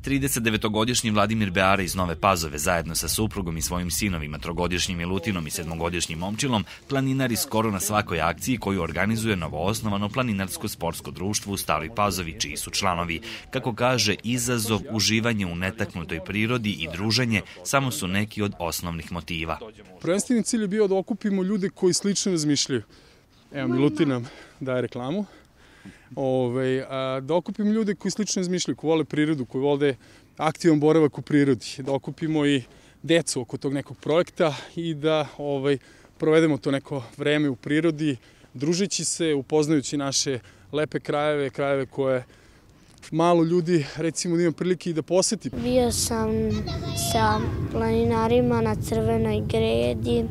39-godišnji Vladimir Beara iz Nove Pazove zajedno sa suprugom i svojim sinovima, 3-godišnjim Milutinom i 7-godišnjim Momčilom, planinari skoro na svakoj akciji koju organizuje novoosnovano planinarsko sportsko društvo u Staroj Pazovi, čiji su članovi. Kako kaže, izazov, uživanje u netaknutoj prirodi i druženje samo su neki od osnovnih motiva. Prvenstveni cilj je bio da okupimo ljude koji slično razmišljaju. Evo, Milutin nam daje reklamu. Da okupimo ljude koji slično razmišljaju, koji vole prirodu, koji vole aktivan boravak u prirodi, da okupimo i decu oko tog nekog projekta i da provedemo to neko vreme u prirodi, družeći se, upoznajući naše lepe krajeve, krajeve koje malo ljudi, recimo, da ima prilike i da poseti. Bio sam sa planinarima na Crvenoj Gredi,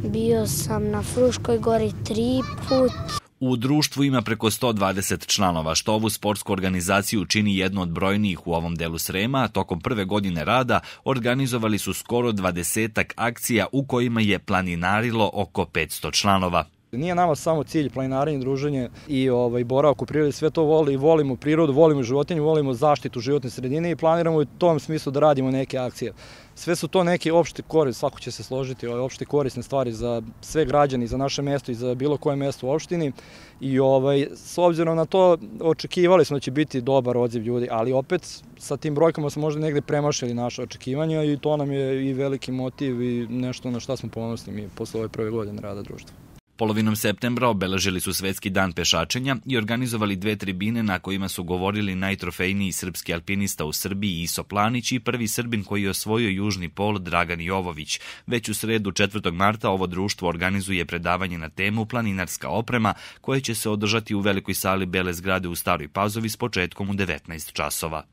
bio sam na Fruškoj gori 3 puta. U društvu ima preko 120 članova, što ovu sportsku organizaciju čini jednu od brojnijih u ovom delu Srema, a tokom prve godine rada organizovali su skoro 20-ak akcija u kojima je planinarilo oko 500 članova. Nije nama samo cilj planinarenje, druženje i boravak u prirodi, sve to volimo prirodu, volimo životinje, volimo zaštitu životne sredine i planiramo u tom smislu da radimo neke akcije. Sve su to neke opšte korisne, svako će se složiti, opšte korisne stvari za sve građane, za naše mesto i za bilo koje mesto u opštini. I s obzirom na to očekivali smo da će biti dobar odziv ljudi, ali opet sa tim brojkama smo možda negde premašili naše očekivanja i to nam je i veliki motiv i nešto na šta smo ponosni mi posle ove prve godine rada društva. Polovinom septembra obeležili su Svetski dan pešačenja i organizovali 2 tribine na kojima su govorili najtrofejniji srpski alpinista u Srbiji Iso Planić i prvi Srbin koji je osvojio Južni pol Dragan Jovović. Već u sredu 4. marta ovo društvo organizuje predavanje na temu planinarska oprema koje će se održati u velikoj sali Bele zgrade u Staroj Pazovi s početkom u 19 časova.